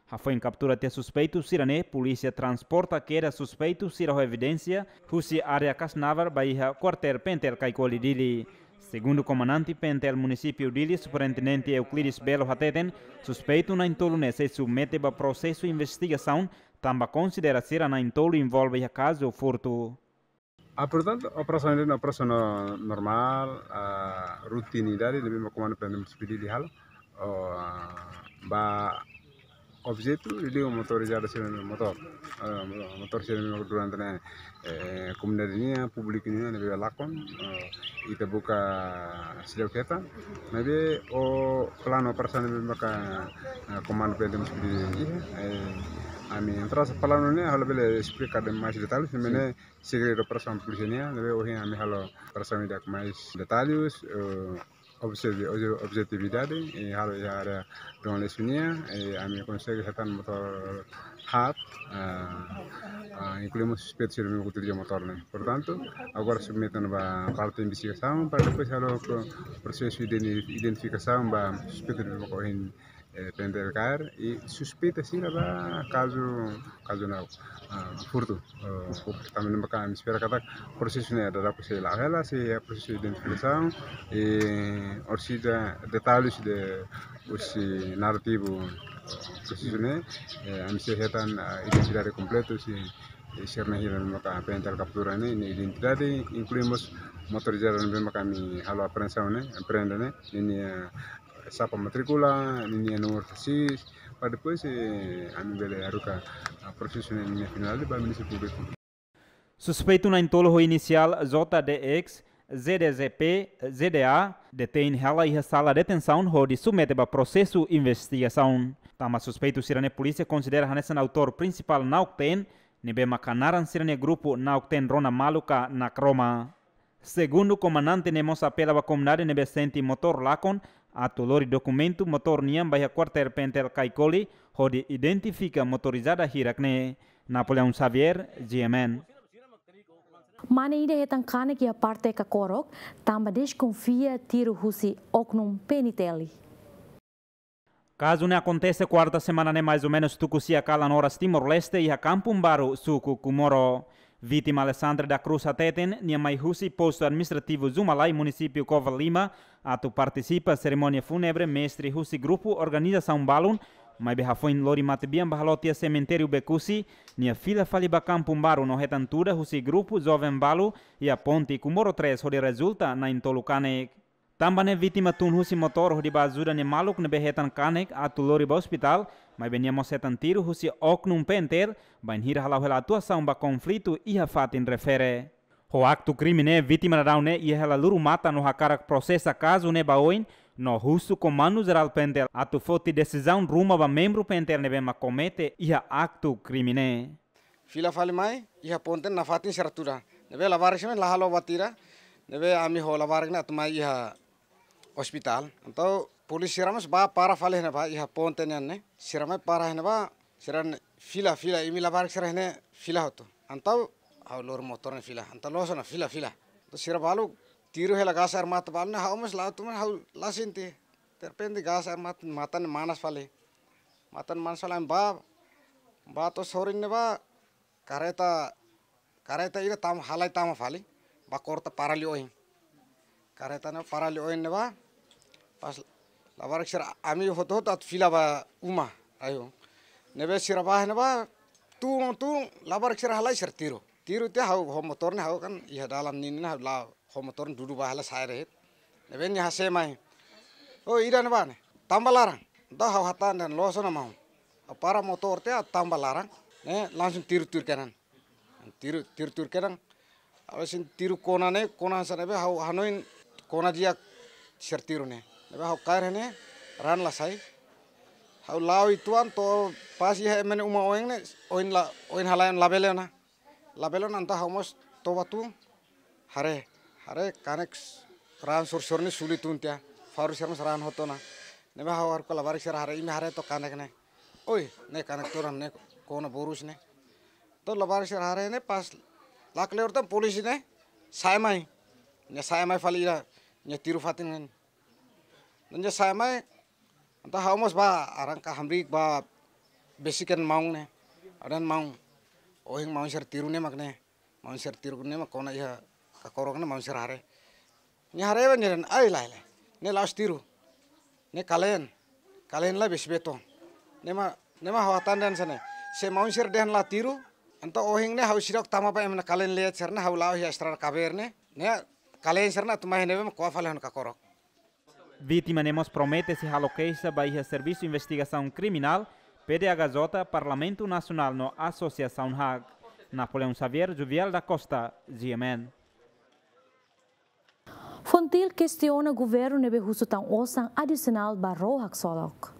Hafoin kaptura tiha suspeitu sira-ne'e, polísia transporta kedas suspeitu sira ho evidénsia husi área Kasnavar ba iha kuartél P N T L Caicoli Dili. Segundu komandante P N T L munisípiu Dili, Superintendente Euclides Belo hateten, suspeitu na'in-tolu ne'e sei submete ba prosesu investigasaun, tanba konsidera sira na'in-tolu envolve iha kazu furtu. Ah, portantu, operasaun ne'e operasaun no-, normál, ah, rutinidade, ne'ebé mak komandu P N M S P D halo. Oh, ah, ba objetu, liga motorizadu sira-nia motór. Ah, motór sira-ne'e durante ne'e, eh, komunidade nian, públiku nian, ne'ebé lakon, eh, ita buka seidauk hetan. Maibé, o planu operasaun ne'ebé maka, eh, komandu P N M S P D, eh, ami entra sa planu ne'e, halo bele esplika de mais detalles, ne'e segredu operasaun polísia nian, ne'ebé ohin ami halo operasaun ida ho mais detalles, eh, Objetivi-, obje-, objetividade, eh, halo iha área Dom Aleixo nian, eh, ami konsege hetan motór haat, ah, ah, inklui mós suspeitu sira ne'ebé utiliza motór ne'e. Portantu, agora submete ona ba parte investigasaun, para depois halo pro-, prosesu identi-, identifikasaun ba suspeitu ne'ebé maka ohin, eh, P N T L kaer, i suspeita sira ba kazu, kazu nau, ah, furtu. Eh, tanba ne'e maka ami espera katak prosesu ne'e daudauk sei la'o hela, sei iha prosesu identifikasaun, i orsida detalhes de husi narrativu prosesu ne'e, eh, ami sei hetan, ah, identidade kompletu husi, eh, sira-ne'e hira maka P N T L kaptura ne'e, nia identidade, inklui mós motorizada ne'ebé maka ami halo apreensaun ne'e, apreende ne'e, ninia, eh, chapa matríkula, ninia númeru chassis, para depois, eh, ami bele haruka, ah, prosesu ne'e ninia finál ba Ministériu Públiku. Suspeitu na'in-tolu ho inisiál J D X, Z D Z P, Z D A, detein hela iha sala detensaun hodi submete ba prosesu investigasaun. Tanba suspeitu sira-ne'e polísia konsidera hanesan autór prinsipál Nauk Ten, ne'ebé maka naran sira-nia grupu Nauk Ten rona malu ka nakroma. Segundu komandante ne'e mós apela ba komunidade ne'ebé sente motór lakon, atu lori dokumentu motór nian ba iha kuartél P N T L Caicoli, hodi identifika motorizada hirak ne'e. Napoleão Xavier, G M N. Mane ida hetan kanek iha parte Kakorok, tanba deskonfia tiru husi oknum P N T L. Kazu ne'e akontese kuarta semana ne'e mais ou menus tuku sia kalan oras Timor-Leste iha Kampung Baru, suku Comoro. Vítima Alessandra da Cruz hateten, nia mai husi postu administrativu Zumalai, munisípiu Covalima, atu partisipa serimónia fúnebre mestre husi grupu organizasaun balun, maibé hafoin lori matebian ba halo tiha semitériu Becusi, nia fila fali ba Kampung Baru no hetan tuda husi grupu joven balu iha ponte Comoro três hodi rezulta na'in-tolu kanek. Tanba ne'e vítima tun husi motór hodi ba ajuda nia maluk ne'ebé hetan kanek atu lori ba ospitál, maibé nia mós hetan tiru husi oknum P N T L, bainhira hala'o hela atuasaun ba konflitu iha fatin refere. Ho aktu krime ne'e, vítima daudaun ne'e iha hela lurumatan no hakarak prosesa kazu ne'e ba oin, no husu Komandu Jerál P N T L atu foti desizaun ruma ba membru P N T L ne'ebé mak komete iha aktu krime ne'e. Fila fali mai, iha ponte nafatin sira tuda. Ne'ebé labarik sira la halo buat ida, ne'ebé ami ho labarik ne'e atu mai iha ospitál. Entaun polísia sira mós ba para fali iha ne'ebá, iha ponte nian ne'e. Sira mai para iha ne'ebá, sira ne'e fila, fila, imi labarik sira iha ne'e fila hotu. Entaun ha'u lori motór ne'e fila. Entaun loos ona fila, fila. Entaun sira balu tiru hela gás air mata balu ne'e ha'u mós la'o tun mai ha'u la sente. Derrepente gás air mata, matan manas fali. Matan manas fali ami ba, ba to'o sorin ne'ebá, kareta, kareta ida tama, halai tama fali, ba korta para liu oin. Kareta ne'e para liu oin ne'ebá, pas labarik sira ami hotu-hotu atu fila ba uma, ayo. Ne'ebé sira ba ne'ebá, tun, tun, labarik sira halai sira tiru. Tiru tiha ha'u ho motór ne'e ha'u kan iha dalan ninin ha'u la'o ho motór dudu ba hela sa'e de'it. Ne'ebé nia hase'e mai. Oh, ida ne'ebá ne'e. Tanba laran. Entaun ha'u hatán dehan loos ona maun. Ha'u para motór tiha tanba laran. Ne'e langsung tiru tuir kedan. Tiru, tiru tuir kedan. Ha'u sente tiru kona ne'e, kona hanesan ne'ebé ha'u hanoin kona di'ak sira tiru ne'e. Ne'ebé ha'u kaer ne'e, raan la sai. Ha'u la'o uitoan to'o pas iha ema nia uma oin ne'e, oin la, oin halai oin labele ona. Labele ona entaun ha'u mós toba tun haree, haree kanek raan sorsor ne'e suli tun tiha, faru sira mós raan hotu ona. Ne'ebé ha'u haruka labarik sira haree, imi haree to'ok kanek ne'e. Oi, ne'e kanek todan ne'e kona borus ne'e. To'o labarik sira haree ne'e pas lakleur tan polísia ne'e sa'e mai. Nia sa'e mai fali ida, nia tiru fatin ne'e. Nia sa'e mai, entaun ha'u mós ba arranka hamriik ba besik an maun ne'e. Ha'u dehan maun, ohin maun sira tiru ne'e mak ne'e. Maun sira tiru ne'e mak kona iha Kakorok ne'e maun sira haree. Nia haree ba nia dehan, ai lae lae. Ne'e la'ós tiru. Ne'e kaleen. Kaleen la besi beton. Ne'e mak, ne'e mak ha'u hatán dehan hanesan ne'e. Se maun sira dehan la tiru, entaun ohin ne'e ha'u seidauk tama ba ema nia kaleen leet sira ne'e ha'u la'o iha estrada kabeer ne'e. Ne'e kaleen sira ne'e atu mai ne'ebé mak ko'a fali ha'u-nia Kakorok. Vítima ne'e mós promete sei halo keixa ba iha Servisu Investigasaun Kriminál, P D H J, Parlamentu Nasionál no Asosiasaun hak. Napoleão Xavier, Juvial da Costa, G M N. FONGTIL kestiona governu ne'ebé husu tan osan adisionál ba ró haksolok.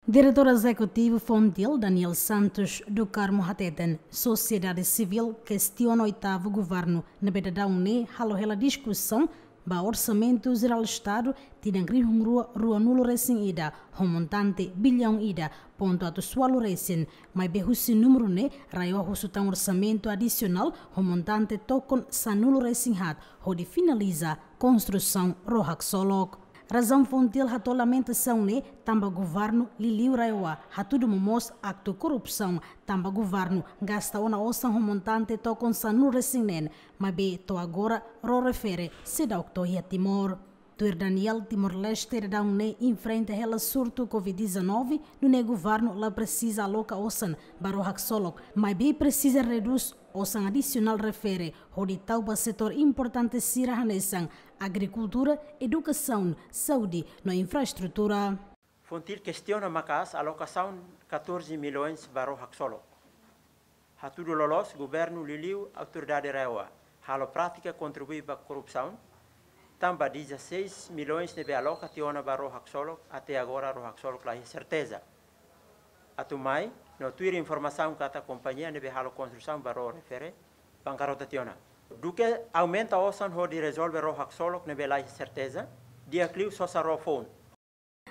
Diretór Ezekutivu FONGTIL, Daniel Santos do Carmo hateten, sosiedade sivíl kestiona oitavu governu ne'ebé daudaun ne'e halo hela diskusaun ba Orsamentu Jerál Estadu tinan rihun rua ruanulu resin ida, ho montante billaun ida pontu atus ualu resin, maibé husi númeru ne'e RAEOA husu tan orsamentu adisionál ho montante tokon sanulu resin haat hodi finaliza konstrusaun ró haksolok. Razaun FONGIL hato'o lamentasaun ne'e tanba governu liuliu RAEOA hatudu momoos aktu korrupsaun, tanba governu gasta ona osan ho montante tokon sanulu resin neen, maibé to'o agora ró refere seidauk to'o iha Timor. Tuir Daniel, Timor-Leste daudaun ne'e enfrenta hela surtu COVID dezanove, nune'e governu la presiza aloka osan ba ró haksolok, maibé presiza redús osan adisionál refere hodi tau ba setór importante sira hanesan agrikultura, edukasaun, saúde no infraestrutura. FONGIL kestiona maka'as alokasaun catorze milhões ba ró haksolok. Hatudu loloos governu liuliu autoridade RAEOA halo prátika kontribui ba korrupsaun, tanba dezasseis milhões ne'ebé aloka tiha ona ba ró haksolok, até agora ró haksolok la iha serteza. Atu mai, no tuir informasaun katak kompañia ne'ebé halo konstrusaun ba ró refere bankarota tiha ona. Duké aumenta osan hodi rezolve ró haksolok ne'ebé la iha serteza, di'ak liu sosa ró foun.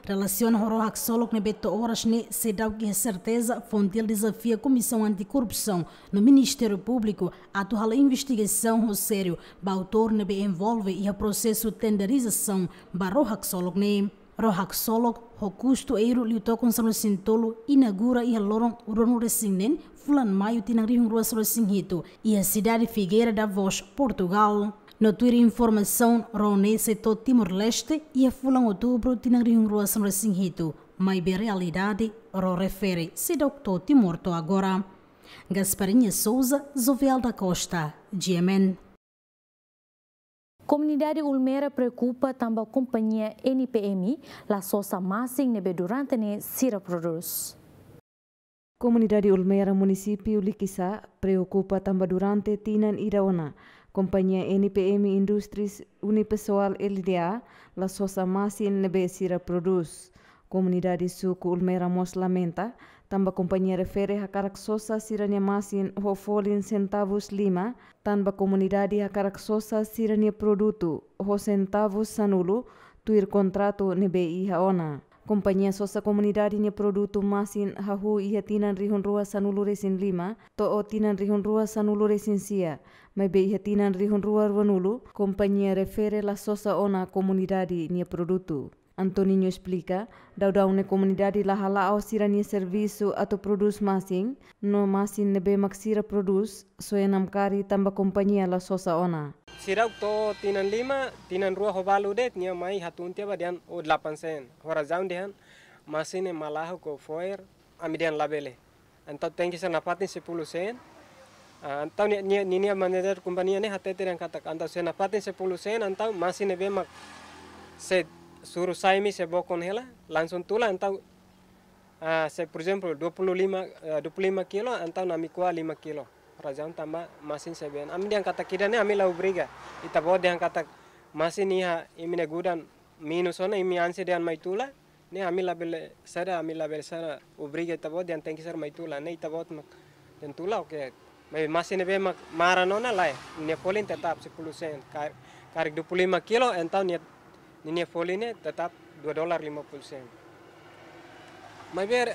Relasiona ho ró haksolok ne'ebé to'o oras ne'e seidauk iha serteza, FONGIL dezafia Komisaun Antikorrupsaun no Ministériu Públiku atu halo investigasaun ho sériu ba autór ne'ebé envolve iha prosesu tenderizasaun ba ró haksolok ne'e. Ró haksolok ho kustu euro liu tokon sanulu resin tolu inaugura iha loron ruanulu resin neen fulan Maiu tinan rihun rua sanulu resin hitu, iha sidade Figueira da Foz, Portugal. No tuir informasaun, ró ne'e sei to'o Timor-Leste iha fulan Outubru tinan rihun rua sanulu resin hitu, maibé realidade ró refere seidauk to'o Timor to'o agora. Gasparinha Souza, Jovial da Costa, G M N. Komunidade Ulmera preokupa tanba kompañia N P M la sosa masin ne'ebé durante ne'e sira prodús. Komunidade Ulmera, munisípiu Likisá, preokupa tanba durante tinan ida ona, kompañia N P M Indústrias Unipessoal L D A la sosa masin ne'ebé sira prodús. Komunidade suku Ulmera mós lamenta, tanba kompañia refere hakarak sosa sira-nia masin ho folin sentavus lima, tanba komunidade hakarak sosa sira-nia produtu ho sentavus sanulu, tuir kontratu ne'ebé iha ona. Kompañia sosa komunidade nia produtu masin hahú iha tinan rihun rua sanulu resin lima to'o tinan rihun rua sanulu resin sia, maibé iha tinan rihun rua ruanulu, kompañia refere la sosa ona komunidade nia produtu. Antoninho esplika, daudaun ne'e komunidade la hala'o sira-nia servisu atu prodús masin, no masin ne'ebé mak sira prodús, soe namkari tanba kompañia la sosa ona. Seidauk to'o tinan lima, tinan rua ho balu de'it, nia mai hatún tiha ba dehan ó delapan sen. Ho razaun dehan masin ne'e malaho ko fo'er, ami dehan labele. Entaun tenke ser nafatin sepuluh sen. Ah, entaun nia, nia, ninia manajer kompañia ne'e hatete dehan katak, entaun se nafatin sepuluh sen, entaun masin ne'ebé mak sei suru sai mai sei bokon hela, langsung tula, entaun, ah, se, por ezemplu, dua puluh lima, ah, dua puluh lima kilo, entaun ami ko'a lima kilo. Razaun tanba masin sei ben. Ami dehan katak ida-ne'e ami la obriga. Ita-boot dehan katak masin iha imi-nia gudang minus ona, imi ansi dehan mai tula. Ne'e ami labele saida, ami labele saida obriga ita-boot dehan tenke ser mai tula. Ne'e ita-boot mak dehan tula, oke. Maibé masin ne'ebé mak maran ona lae, nia folin tetap sepuluh sen. Ka-, karik dua puluh lima kilo, entaun nia, nia folin ne'e tetap dua dolar lima puluh sen. Maibé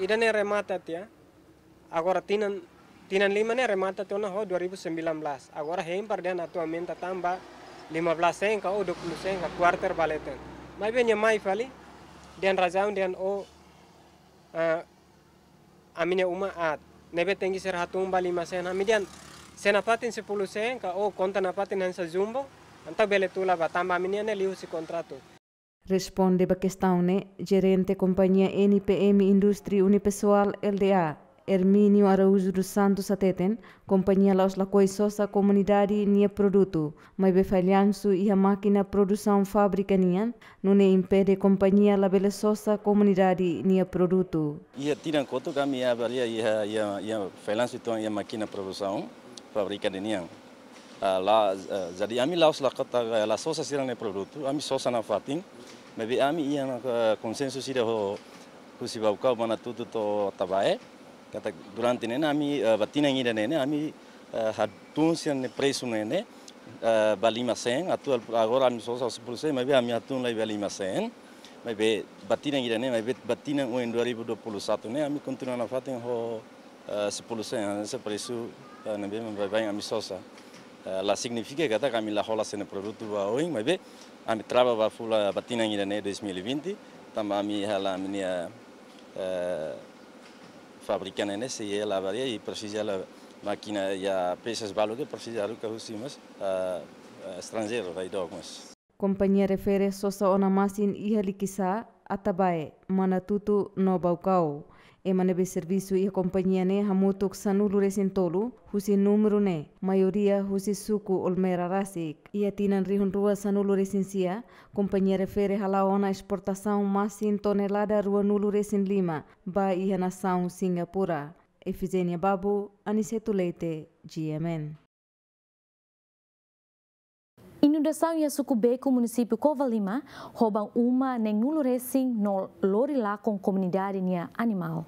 ida-ne'e remata tiha. Agora tinan, tinan lima ne'e remata tiha ona ho dua ribu sembilan belas. Agora hein para dehan atu aumenta tan ba lima belas sen ka ou dua puluh sen ka kuarter ba leten. Maibé nia mai fali, dehan razaun dehan ó, ah, ami-nia uma aat. Ne'ebé tenke ser hatún ba lima sen. Ami dehan se nafatin sepuluh sen ka ó konta nafatin hanesan jumbo, entaun bele tula ba tanba ami-nia ne'e liuhusi kontratu. Responde ba kestaun ne'e, jerente kompañia N P M Indústria Unipessoal L D A, Hermínio Araújo dos Santos hateten, kompañia la'ós lakohi sosa komunidade nia produtu, maibé fallansu iha mákina produsaun fábrika nian, nune'e impede kompañia labele sosa komunidade nia produtu. Iha tinan kotuk ami avalia iha, iha, iha fallansu uitoan iha mákina produsaun fábrika ninian. Ah, la, ah, jadi ami la'ós la katak, eh, la sosa sira-nia produtu, ami sosa nafatin. Maibé ami iha, eh, konsensu ida ho, husi Baucau, Manatuto to'o Atabae. Katak durante ne'e ne'e ami, eh, ba tinan ida ne'e ne'e ami, eh, hatún sira-nia presu ne'e ne'e, eh, ba lima sen, atuál agora ami sosa sepuluh sen, maibé ami hatún lai ba lima sen. Maibé ba tinan ida-ne'e, maibé ba tinan oin dua ribu dua puluh satu ne'e, ami kontinua nafatin ho, eh, sepuluh sen, hanesan presu, eh, ne'ebé baibain ami sosa. Eh, la signifika katak ami la hola sei-nia produtu ba oin, maibé ami trava ba fulan ba tinan ida-ne'e dois mil e vinte, tanba ami hela ami-nia, eh, fábrika ne'e sei hela ba rai i presiza hela mákina, iha pezas balu ke presiza haruka husi mós, eh, eh, estranjeiru, rai dook mós. Kompañia refere sosa ona masin iha Likisá, Atabae, Manatutu no Baucau. Ema ne'ebé servisu iha kompañia ne'e hamutuk sanulu-resin-tolu, husi númeru ne'e, maioria husi suku Olmera rasik. Iha tinan rihun rua sanulu-resin-sia, kompañia refere hala'o ona esportasaun masin tonelada ruanulu-resin-lima ba iha nasaun Singapura. Efigénia Babu, Aniceto Leite, G M N. Inundasaun iha suku Beco, munisípiu Covalima, hoban uma neenulu-resin no lori lakon komunidade nia animál.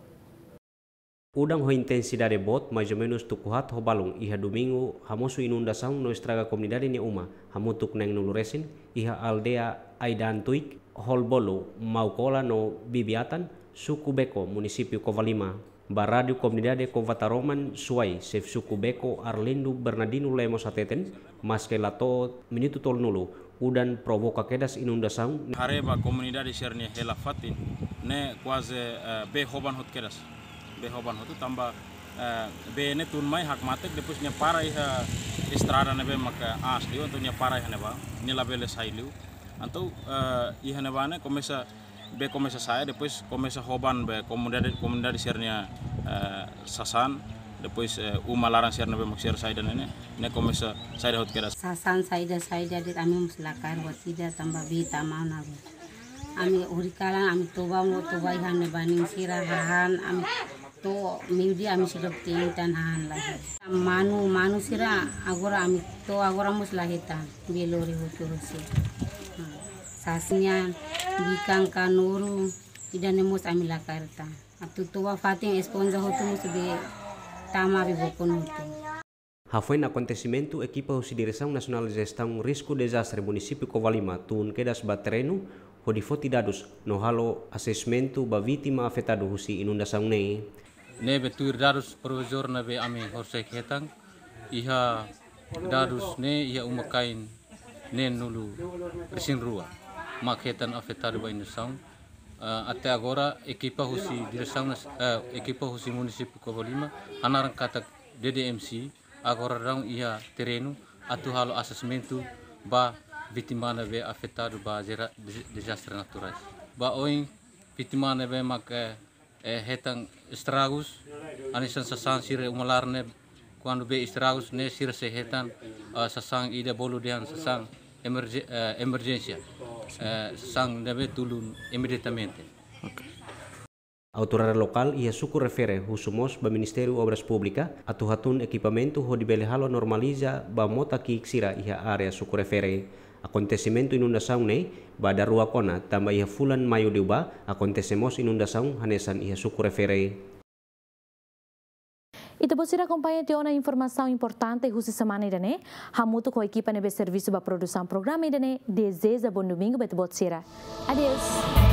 Udan ho intensidade boot, mais ou menus tuku haat ho balun, iha domingu, hamosu inundasaun no estraga komunidade nia uma, hamutuk neenulu-resin, iha aldeia Aidan Tuik, Holbolo, Maukola no Bibiatan, suku Beco, munisípiu Covalima. Ba Rádiu Komunidade Cova Taroman, Suai, xefe suku Beco, Arlindo Bernardino Lemos hateten, maske la to'o minutu tolunulu, udan provoka kedas inundasaun. Haree ba komunidade sira-nia hela fatin, ne'e kuaze, eh, bee hoban hotu kedas. Bee hoban hotu tanba, eh, bee ne'e tun mai hakmatek, depois nia para iha estrada ne'ebé maka aas liu, entaun nia para iha ne'ebá, nia labele sai liu. Entaun, eh, iha ne'ebá ne'e komesa, bee komesa sa'e, depois komesa hoban ba komunidade, komunidade sira-nia, eh, sasán, depois, eh, uma laran sira ne'ebé mak sira saida ne'e, ne'e komesa saida hotu kedas. Sasán saida, saida de'it, ami mós la kaer buat ida tanba bee tama ona. Ami horikalan, ami toba mo toba iha ne'ebá nia sira hahán, ami to'o meiudia ami seidauk te'in tan hahán lagi. Manu, manu sira agora ami to'o agora mós la hetan, bee lori hotu husi. Hmm. Sasán nian, bikan ka noru, ida-ne'e mós ami la kaer tan. Atu toba fatin esponja hotu mós bee tama bee bokon hotu. Hafoin akontesimentu, ekipa husi Diresaun Nasionál Jestaun Risku Dezastre munisípiu Covalima tun kedas ba terrenu, hodi foti dadus no halo asesmentu ba vítima afetadu husi inundasaun ne'e. Ne'ebé tuir dadus provizóriu ne'ebé ami horiseik hetan, iha dadus ne'e iha uma-kain neenulu-resin-rua mak hetan afetadu ba inundasaun. Eh, até agora, ekipa husi Diresaun Nas-, eh, ekipa husi munisípiu Covalima, hanaran katak D D M C, agora daudaun iha terrenu atu halo asesmentu ba vítima ne'ebé afetadu ba jera-, de-, dezastre naturais. Ba oin vítima ne'ebé mak, eh, eh, hetan estragus, hanesan sasán sira uma laran ne'e, kuandu bee estragus ne'e sira sei hetan, eh, sasán ida bolu dehan sasán emerje-, eh, emerjénsia, eh, sasán ne'ebé tulun imediatamente. Oke. Autoridade lokál iha suku refere husu mós ba Ministériu Obras Públikas atu hatún ekipamentu hodi bele halo normaliza ba mota ki'ik sira iha área suku refere. Akontesimentu inundasaun ne'e ba daruak ona, tanba iha fulan Maiu liubá akontese mós inundasaun hanesan iha suku refere. Ita-boot sira akompaña tiha ona informasaun importante husi semana ida-ne'e, hamutuk ho ekipa ne'ebé servisu ba produsaun programa ida-ne'e, dezeja bom domingu ba ita-boot sira. Adeus.